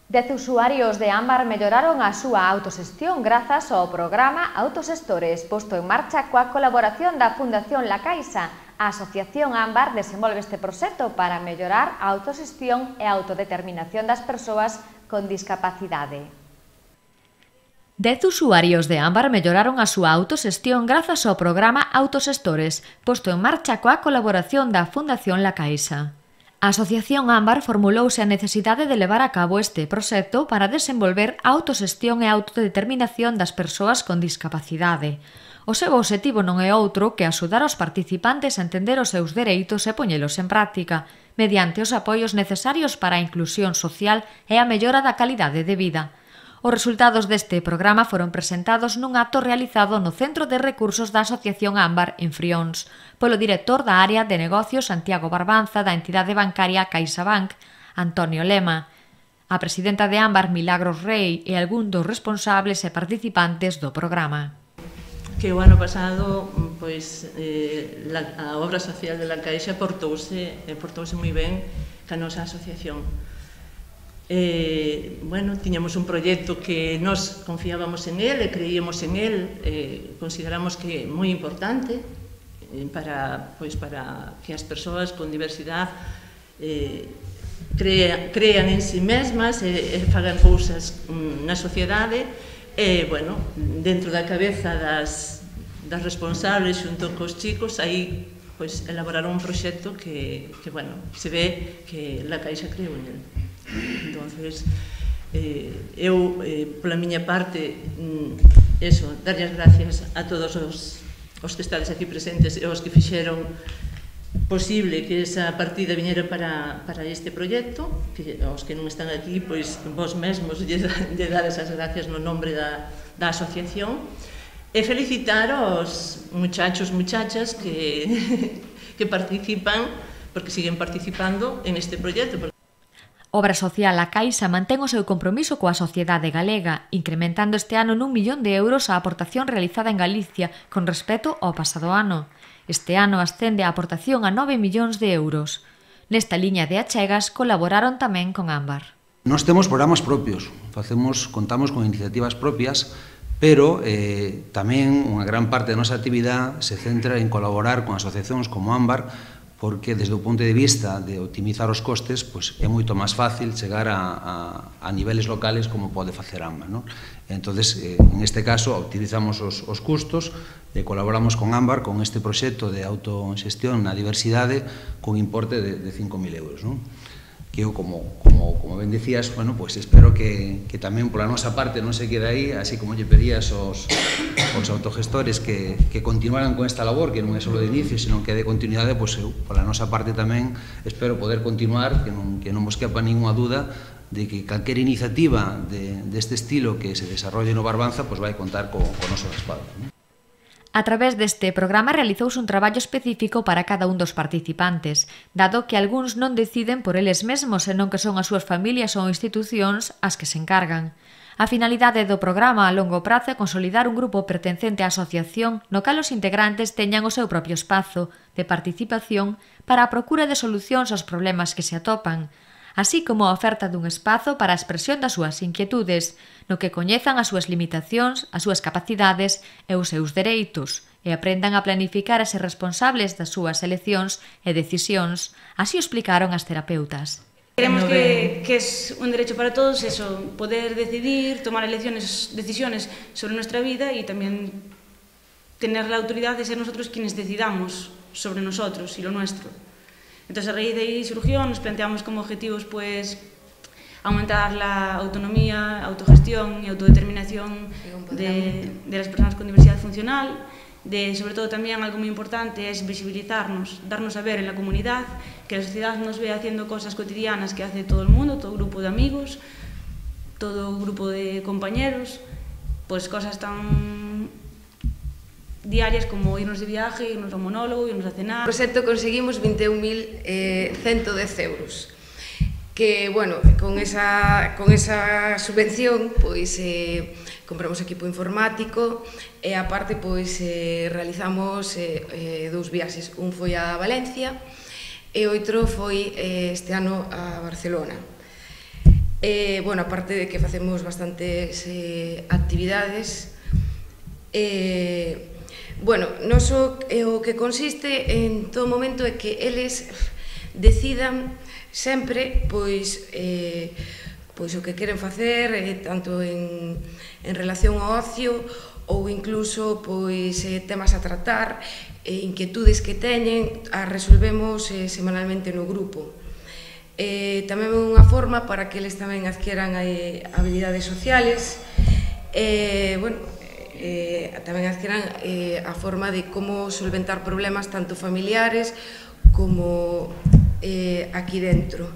10 usuarios de Ámbar melloraron a súa autoxestión grazas ao programa Autoxestores, posto en marcha coa colaboración da Fundación La Caixa. A Asociación Ámbar desenvolve este proxecto para mellorar a autoxestión e a autodeterminación das persoas con discapacidade. 10 usuarios de Ámbar melloraron a súa autoxestión grazas ao programa Autoxestores, posto en marcha coa colaboración da Fundación La Caixa. A Asociación Ámbar formulouse a necesidade de levar a cabo este proxecto para desenvolver a autoxestión e a autodeterminación das persoas con discapacidade. O seu obxectivo non é outro que axudar aos participantes a entender os seus dereitos e poñelos en práctica, mediante os apoios necesarios para a inclusión social e a mellora da calidade de vida. Os resultados deste programa foron presentados nun acto realizado no Centro de Recursos da Asociación Ámbar en Frións, polo director da área de negocios Santiago Barbanza da entidade bancaria CaixaBank, Antonio Lema, a presidenta de Ámbar Milagros Rei e algún dos responsables e participantes do programa. Que o ano pasado a obra social de La Caixa portouse moi ben ca nosa asociación. Tiñamos un proxecto que nos confiábamos en él e creíamos en él, consideramos que é moi importante para que as persoas con diversidade crean en si mesmas e fagan cousas na sociedade e, dentro da cabeza das responsables xunto cos chicos, aí elaboraron un proxecto que se ve que La Caixa creou en él. Entonces, eu, pola miña parte, darlle as gracias a todos os que estades aquí presentes e os que fixeron posible que esa partida viñera para este proxecto, que aos que non están aquí, pois vos mesmos lle dades as gracias no nombre da asociación, e felicitar aos muchachos, muchachas que participan, porque siguen participando en este proxecto. Obra Social La Caixa mantén o seu compromiso coa sociedade galega, incrementando este ano n'1 millón de euros a aportación realizada en Galicia con respecto ao pasado ano. Este ano ascende a aportación a 9 millóns de euros. Nesta liña de achegas colaboraron tamén con Ámbar. Nós temos programas propios, contamos con iniciativas propias, pero tamén unha gran parte da nosa actividade se centra en colaborar con asociacións como Ámbar, porque desde o punto de vista de optimizar os costes é moito máis fácil chegar a niveles locales como pode facer Ámbar. Entón, en este caso, optimizamos os custos e colaboramos con Ámbar con este proxecto de autoxestión na diversidade con importe de 5.000 euros. Que eu, como ben dicías, espero que tamén pola nosa parte non se quede aí, así como lle pedías aos autogestores que continuaran con esta labor, que non é só de inicio, senón que é de continuidade, eu, pola nosa parte tamén, espero poder continuar, que non vos quepa ninguna duda de que calquera iniciativa deste estilo que se desarrolle no Barbanza vai contar co noso respaldo. A través deste programa realizouse un traballo específico para cada un dos participantes, dado que algúns non deciden por eles mesmos, senón que son as súas familias ou institucións as que se encargan. A finalidade do programa a longo prazo é consolidar un grupo pertencente á asociación no cal os integrantes teñan o seu propio espazo de participación para a procura de solucións aos problemas que se atopan, así como a oferta dun espazo para a expresión das súas inquietudes, no que coñezan as súas limitacións, as súas capacidades e os seus dereitos, e aprendan a planificar e ser responsables das súas eleccións e decisións, así o explicaron as terapeutas. Queremos que es un derecho para todos eso, poder decidir, tomar decisiones sobre nuestra vida y también tener la autoridad de ser nosotros quienes decidamos sobre nosotros y lo nuestro. Entonces, a raíz de ahí surgió, nos planteamos como objetivos aumentar la autonomía, autogestión y autodeterminación de las personas con diversidad funcional, sobre todo también algo muy importante es visibilizarnos, darnos a ver en la comunidad, que la sociedad nos ve haciendo cosas cotidianas que hace todo el mundo, todo grupo de amigos, todo grupo de compañeros, cosas tan diarias como irnos de viaje, irnos a un monólogo, irnos a cenar. No proxecto conseguimos 21.110 euros, que, con esa subvención, compramos equipo informático e, aparte, realizamos 2 viaxes. Un foi a Valencia e outro foi este ano a Barcelona. Bueno, aparte de que facemos bastantes actividades, bueno, noso o que consiste en todo momento é que eles decidan sempre pois o que queren facer, tanto en relación ao ocio ou incluso pois temas a tratar, inquietudes que teñen, as resolvemos semanalmente no grupo. Tamén é unha forma para que eles tamén adquieran habilidades sociales, tamén adquieran a forma de como solventar problemas tanto familiares como aquí dentro.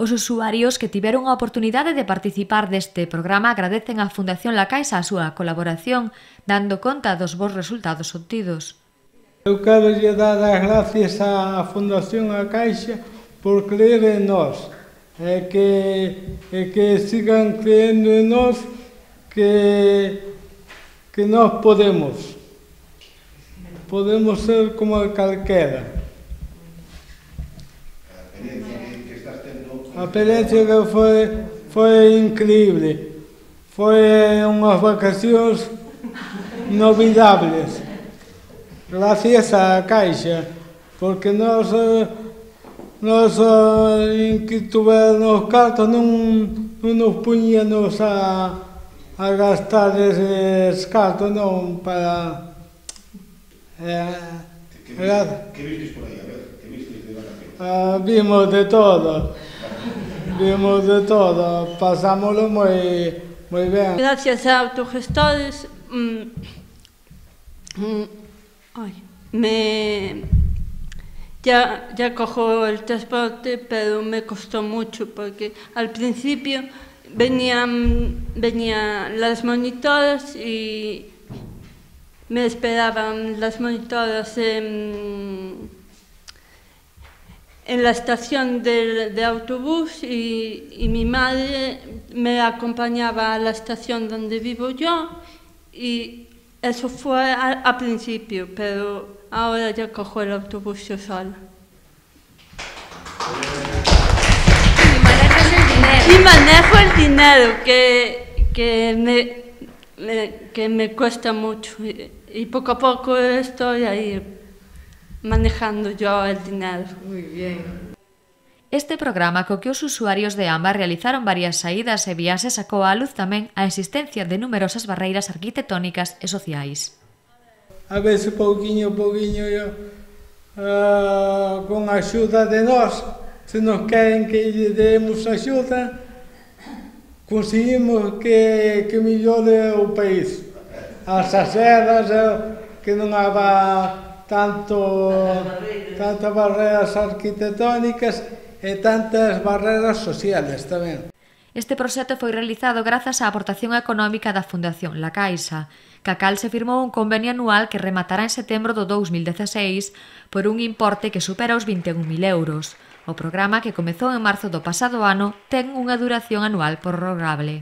Os usuarios que tiveron a oportunidade de participar deste programa agradecen á Fundación La Caixa a súa colaboración, dando conta dos bons resultados obtidos. Eu quero lle dar as gracias á Fundación La Caixa por creer en nós, e que sigan creendo en nós, que nós podemos ser como calquera. A experiencia que foi increíble, foi unhas vacacións inolvidables, gracias á Caixa, porque nós que tuvernos cartos non nos puñíamos a gastar eses cartos, non, para... Que vistes por aí, a ver? Que vistes de vacacións? Vimos de todo, pasámoslo moi ben. Gracias a autogestores ya cojo el transporte, pero me costó mucho porque al principio venían las monitoras y me esperaban las monitoras en la estación de autobús y mi madre me acompañaba a la estación donde vivo yo y eso fue al principio, pero ahora ya cojo el autobús yo sola. Y manejo el dinero que me cuesta mucho y poco a poco estoy ahí manejando yo el dinero. Muy bien. Este programa co que os usuarios de Ámbar realizaron varias saídas e viaxes sacou á luz tamén a existencia de numerosas barreiras arquitectónicas e sociais. A veces pouquiño con a axuda de nós, se nos queren que lle demos axuda, conseguimos que mellore o país. As asedas, que non haba tantas barreras arquitectónicas e tantas barreras sociales tamén. Este proxecto foi realizado grazas á aportación económica da Fundación La Caixa, ca cal se firmou un convenio anual que rematará en setembro do 2016 por un importe que supera os 21.000 euros. O programa, que comezou en marzo do pasado ano, ten unha duración anual prorrogable.